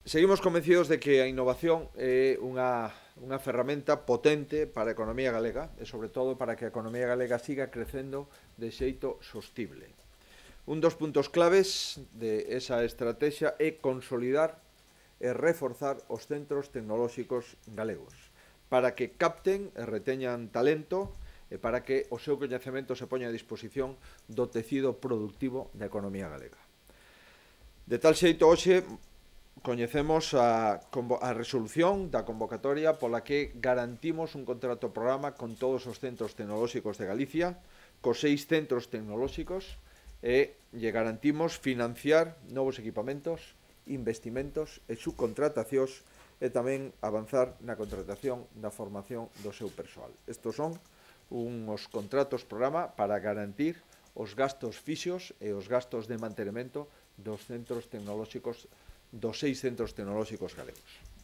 Seguimos convencidos de que a innovación é unha ferramenta potente para a economía galega e, sobre todo, para que a economía galega siga crecendo de xeito sostible. Un dos puntos claves de esa estrategia é consolidar e reforzar os centros tecnolóxicos galegos para que capten e reteñan talento e para que o seu coñecemento se poña a disposición do tecido productivo da economía galega. De tal xeito, hoxe coñecemos a resolución da convocatoria pola que garantimos un contrato programa con todos os centros tecnolóxicos de Galicia, cos 6 centros tecnolóxicos, e lle garantimos financiar novos equipamentos, investimentos e subcontratacións e tamén avanzar na contratación da formación do seu persoal. Estos son uns contratos programa para garantir os gastos fixos e os gastos de mantenimento dos centros tecnolóxicos, dos 6 centros tecnolóxicos galegos.